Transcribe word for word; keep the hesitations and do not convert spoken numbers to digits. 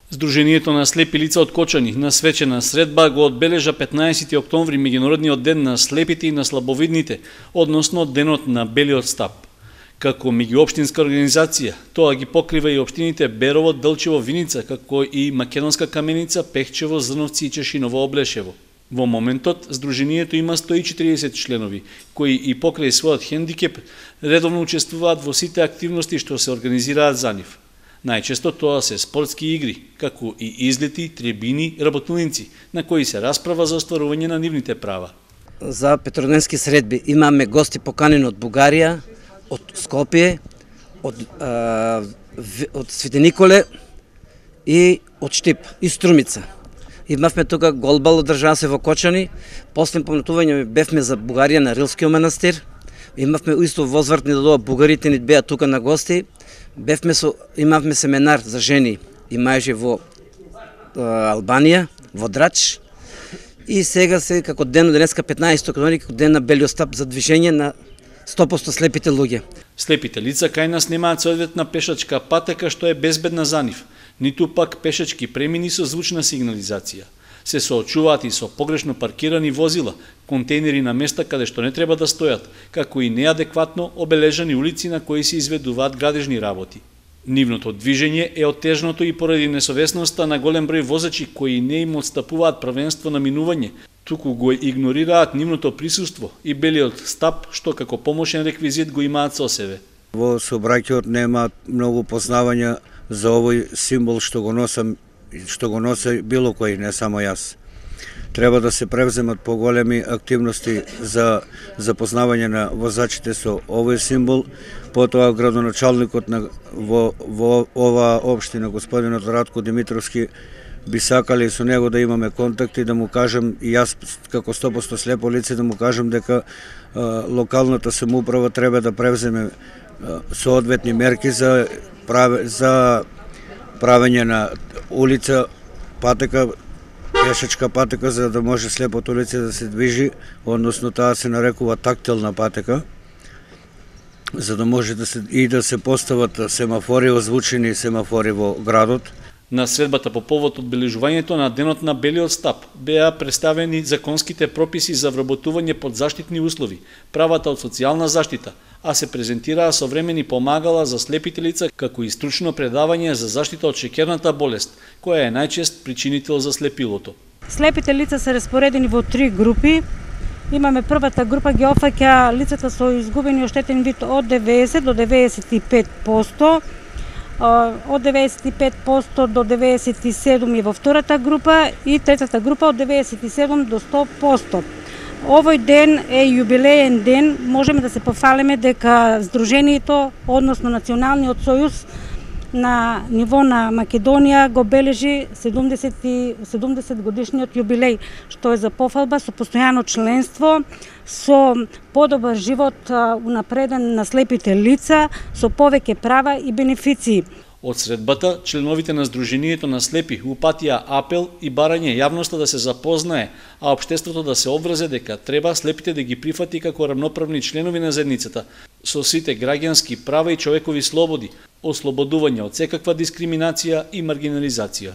Сдруженијето на слепи лица од Кочани на свечена средба го одбележа петнаесети октомври меѓународниот ден на слепите и на слабовидните, односно денот на белиот стап. Како меѓуопштинска организација, тоа ги покрива и општините Берово, Делчево, Виница, како и Македонска Каменица, Пехчево, Зрновци и Чешиново, Облешево. Во моментот, Сдруженијето има сто и четириесет членови, кои и покрај својот хендикеп редовно учествуваат во сите активности што се организираат за нив. Најчесто тоа се спортски игри, како и излети, трибини, работилници, на кои се расправа за остварување на нивните права. За петродневски средби имаме гости поканени од Бугарија, од Скопје, од, а, од Свети Николе и од Штип и Струмица. Имавме тука голбал, одржаа се во Кочани, после помнатување бевме за Бугарија на Рилскиот манастир, имавме исто возвртни да доа бугарите ни беа тука на гости. Бевме со, имавме семинар за жени и мајжи во а, Албанија, во Драч. И сега се како ден денеска петнаесети октомври како ден на белиот стап за движење на сто проценти слепите луѓе. Слепите лица кај нас немаат соодветна пешачка патека што е безбедна за нив, ниту пак пешачки премини со звучна сигнализација. Се соочуваат и со погрешно паркирани возила, контейнери на места каде што не треба да стојат, како и неадекватно обележани улици на кои се изведуваат градежни работи. Нивното движење е отежното и поради несовесноста на голем број возачи кои не им отстапуваат правенство на минување, туку го игнорираат нивното присуство и белиот стап што како помошен реквизит го имаат со себе. Во сообраќајот нема многу познавања за овој символ што го носам што го носи било кој, не само јас. Треба да се превземат поголеми активности за запознавање на возачите со овој символ. Потоа градоначалникот на во, во ова општина, господинот Радко Димитровски, би сакали со него да имаме контакти, да му кажем, и јас како сто проценти слепо лице да му кажем дека а, локалната самоуправа треба да превземе а, соодветни мерки за праве, за правење на улица, патека, пешачка патека, за да може слепото лице да се движи, односно таа се нарекува тактилна патека, за да може да се и да се постават семафори, озвучени семафори во градот. На средбата по повод одбележувањето на денот на белиот стап беа представени законските прописи за вработување под заштитни услови, правата од социјална заштита, а се презентираа современи помагала за слепите лица, како и стручно предавање за заштита од шеќерната болест, која е најчест причинител за слепилото. Слепите лица се распоредени во три групи. Имаме првата група ги опфаќа лицата со изгубени и оштетен вид од деветдесет до деветдесет и пет проценти, од деветдесет и пет проценти до деветдесет и седум проценти и во втората група и третата група од деветдесет и седум до сто проценти. Овој ден е јубилеен ден, можеме да се пофалиме дека Сдруженијето, односно Националниот сојуз на ниво на Македонија го бележи седумдесет годишниот јубилеј, што е за пофалба со постојано членство, со подобар живот унапреден на слепите лица, со повеќе права и бенефиции. Од средбата, членовите на Сдруженијето на слепи упатија апел и барање јавноста да се запознае, а општеството да се обврзе дека треба слепите да ги прифати како рамноправни членови на заедницата, со сите граѓански права и човекови слободи, ослободување од секаква дискриминација и маргинализација.